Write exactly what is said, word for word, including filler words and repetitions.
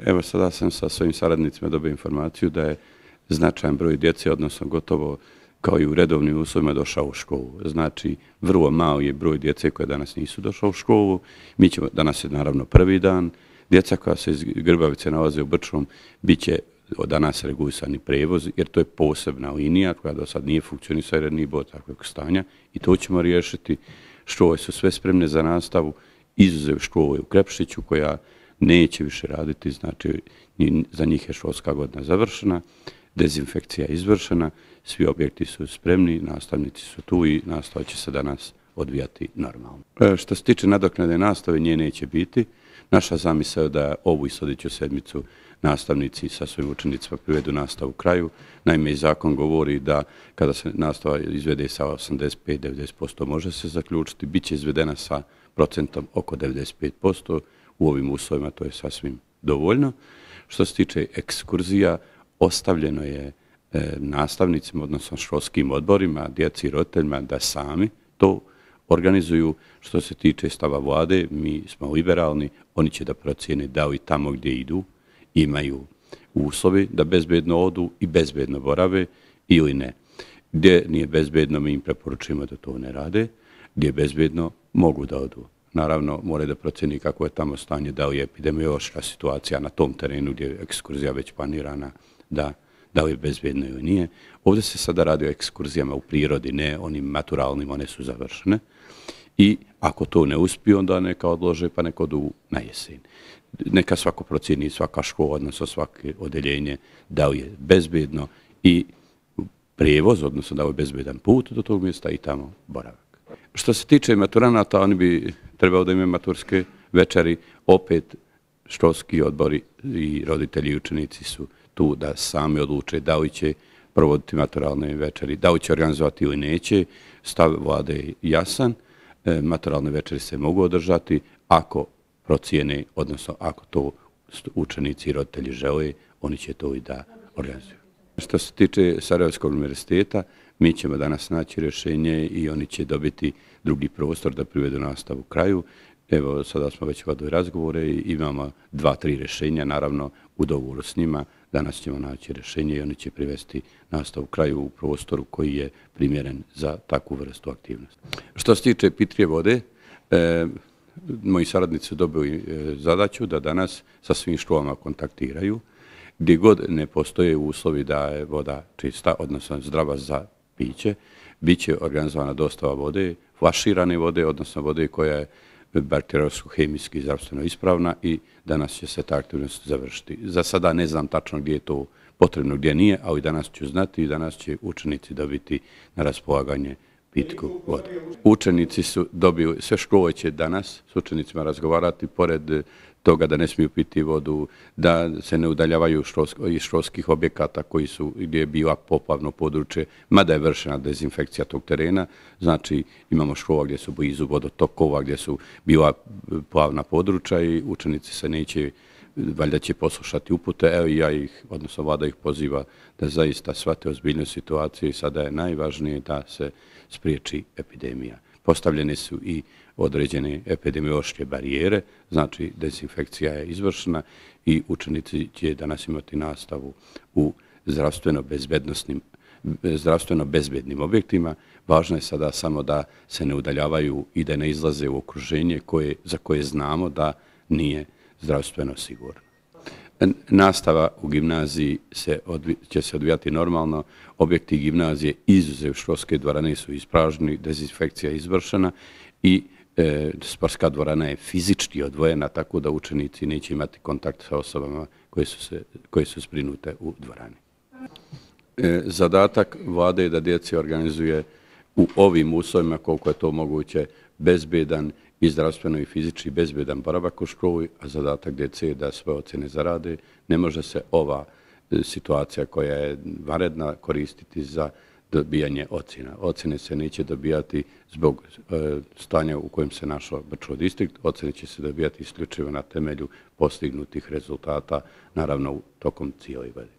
Evo sada sam sa svojim saradnicima dobio informaciju da je značajan broj djece, odnosno gotovo kao i u redovnim uslovima, došao u školu. Znači, vrlo malo je broj djece koje danas nisu došao u školu. Mi ćemo, danas je naravno prvi dan. Djeca koja se iz Grbavice nalaze u Brčkom bit će od danas regulisani prevoz, jer to je posebna linija koja do sad nije funkcionisala jer nije bilo takvog stanja i to ćemo riješiti. Škole su sve spremne za nastavu, izuzev škole u Krepšiću koja neće više raditi, znači za njih je školska godina završena, dezinfekcija je izvršena, svi objekti su spremni, nastavnici su tu i nastava će se danas odvijati normalno. E, što se tiče nadoknade nastave, nje neće biti. Naša zamisao je da ovu i sljedeću sedmicu nastavnici sa svojim učenicima privedu nastavu kraju. Naime, zakon govori da kada se nastava izvede sa osamdeset pet do devedeset posto može se zaključiti, bit će izvedena sa procentom oko devedeset pet posto. U ovim uslovima to je sasvim dovoljno. Što se tiče ekskurzija, ostavljeno je e, nastavnicima, odnosno školskim odborima, djeci i roditeljima da sami to organizuju. Što se tiče stava vlade, mi smo liberalni, oni će da procijene da li tamo gdje idu imaju uslovi da bezbedno odu i bezbedno borave ili ne. Gdje nije bezbedno, mi im preporučujemo da to ne rade, gdje je bezbedno, mogu da odu. Naravno, moraju da proceni kako je tamo stanje, da li je epidemiološka situacija na tom terenu gdje je ekskurzija već planirana, da, da li je bezbedno ili nije. Ovdje se sada radi o ekskurzijama u prirodi, ne onim maturalnim, one su završene. I ako to ne uspije, onda neka odlože pa neka odu na jesen. Neka svako procjeni, svaka škola, odnosno svake odeljenje, da li je bezbedno i prijevoz, odnosno da li je bezbedan put do tog mjesta i tamo boravak. Što se tiče maturanata, oni bi trebalo da imaju maturske večeri. Opet školski odbori i roditelji i učenici su tu da sami odluče da li će provoditi maturalne večeri, da li će organizovati ili neće. Stav vlade je jasan. E, maturalne večeri se mogu održati ako procijene, odnosno ako to učenici i roditelji žele, oni će to i da organizuju. Što se tiče Sarajevskog univerziteta, mi ćemo danas naći rješenje i oni će dobiti drugi prostor da privedu nastavu kraju. Evo, sada smo već vodili razgovore i imamo dva, tri rješenja, naravno u dogovoru s njima. Danas ćemo naći rješenje i oni će privesti nastavu kraju u prostoru koji je primjeren za takvu vrstu aktivnosti. Što se tiče pitrije vode, e, moji saradnici su dobili zadaću da danas sa svim školama kontaktiraju. Gdje god ne postoje uslovi da je voda čista, odnosno zdrava za piće, bit će organizovana dostava vode, flaširane vode, odnosno vode koja je bakteriološko-hemijski i zdravstveno ispravna i danas će se ta aktivnost završiti. Za sada ne znam tačno gdje je to potrebno, gdje nije, ali danas ću znati i danas će učenici dobiti na raspolaganje pitku vodu. Učenici su dobili, sve škole će danas s učenicima razgovarati, pored toga da ne smiju piti vodu, da se ne udaljavaju iz školskih objekata koji su, gdje je bila poplavno područje, mada je vršena dezinfekcija tog terena. Znači, imamo škola gdje su blizu vodotokova, gdje su bila plavna područja i učenici se neće, valjda će poslušati upute. Evo i ja ih, odnosno vlada ih poziva da zaista shvate ozbiljnu situaciju i sada je najvažnije da se spriječi epidemija. Postavljene su i određene epidemiološke barijere, znači dezinfekcija je izvršena i učenici će danas imati nastavu u zdravstveno bezbednosnim, zdravstveno bezbednim objektima. Važno je sada samo da se ne udaljavaju i da ne izlaze u okruženje koje, za koje znamo da nije zdravstveno sigurno. Nastava u gimnaziji se odvi, će se odvijati normalno. Objekti gimnazije izuzev školske dvorane su ispraženi, dezinfekcija je izvršena i e, sportska dvorana je fizički odvojena, tako da učenici neće imati kontakt sa osobama koje su, se, koje su zbrinute u dvorani. E, zadatak vlade je da djeci organizuje u ovim uslovima koliko je to moguće bezbedan i zdravstveno i fizički bezbedan boravak u školi, a zadatak djece je da svoje ocjene zarade. Ne može se ova situacija koja je vanredna koristiti za dobijanje ocjena. Ocjene se neće dobijati zbog e, stanja u kojem se našao Brčko distrikt. Ocjene će se dobijati isključivo na temelju postignutih rezultata, naravno tokom cijele godine.